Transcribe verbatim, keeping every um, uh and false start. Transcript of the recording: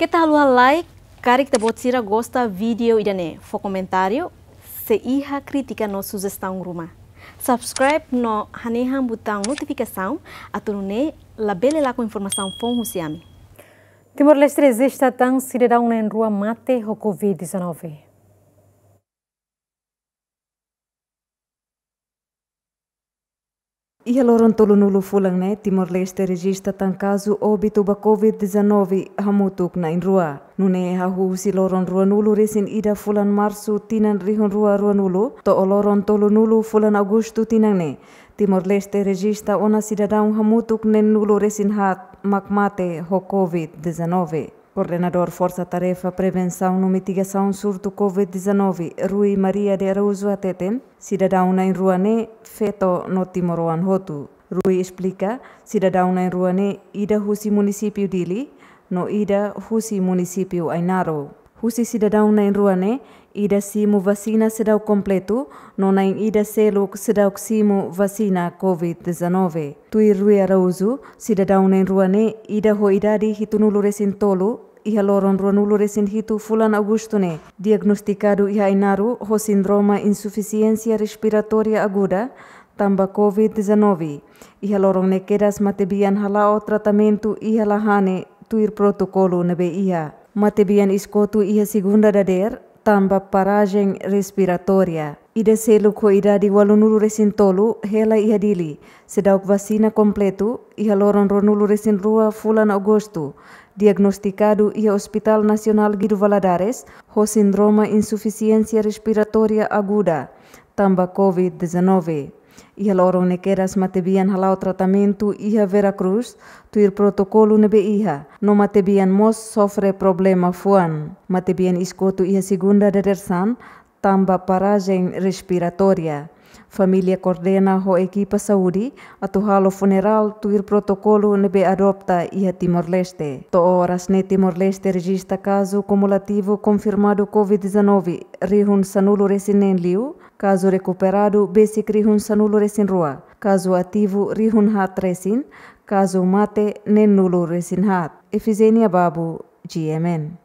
Keta haluha like, karik ita-boot sira gosta vídeo ida-ne'e, fó komentáriu, se iha krítika no sujestaun ruma. Subscribe no hanehan butaun notifikasaun, atu nune'e labele lakon informasaun foun husi ami. Timor-Leste rejista tan sidadaun na'in-rua mate ho covid dezanove. Iha loron tolunulu fulan ne'e, Timor-Leste rejista tan kazu óbitu ba covid dezanove hamutuk na'in-rua. Nune'e hahú husi loron ruanulu-resin-ida fulan Marsu tinan rihun rua ruanulu, to'o loron tolunulu fulan Agostu tinan ne'e, Timor-Leste rejista ona sidadaun hamutuk neenulu-resin-haat mak mate ho covid dezanove. Koordenadór Forsa Tarefa Prevensaun no Mitigasaun Surtu covid dezanove, Rui Maria de Araújo hateten, sidadaun na'in-rua ne'e feto no timoroan hotu. Rui esplika, sidadaun na'in-rua ne'e ida husi munisípiu Dili, no ida husi munisípiu Ainaro. Husi sidadaun na'in-rua ne'e, ida simu vasina seidauk kompletu, no na'in-ida seluk seidauk simu vasina covid dezanove. Tuir Rui Araújo, sidadaun na'in-rua ne'e, ida ho idade hitunulu-resin-tolu, iha loron ruanulu-resin-hitu fulan Agostu ne'e, diagnostikadu iha Ainaro ho sindroma insufisiénsia respiratória aguda, tanba covid dezanove. Iha loron ne'e kedas matebian hala'o tratamentu iha Lahane tuir protokolu ne'ebé iha. Matebian iis-kotu iha segunda dadeer, tanba parajen respiratória. Ida seluk ho idade ualunulu-resin-tolu hela iha Dili, seidauk vasina kompletu, iha loron ruanulu-resin-rua fulan Agostu, diagnostikadu iha Hospital Nasionál Guido Valadares, ho sindroma insufisiénsia respiratória aguda, tanba covid dezanove. Iha loron ne'e kedas matebian hala'o tratamentu iha Vera Cruz, tuir protokolu ne'ebé iha, no matebian mós sofre problema fuan. Matebian iis-kotu iha segunda dadeer-saan, tanba parajen respiratória. Família koordena ho ekipa saúde atu halo funerál tuir protokolu ne'ebé adota iha Timor-Leste. To'o oras ne'e Timor-Leste rejista kazu kumulativu konfirmadu covid dezanove rihun sanulu-resin-neen liu, kazu rekuperadu besik rihun sanulu-resin-rua, kazu ativu rihun haat resin, kazu mate neenulu-resin-haat. Efizénia Babu, G M N.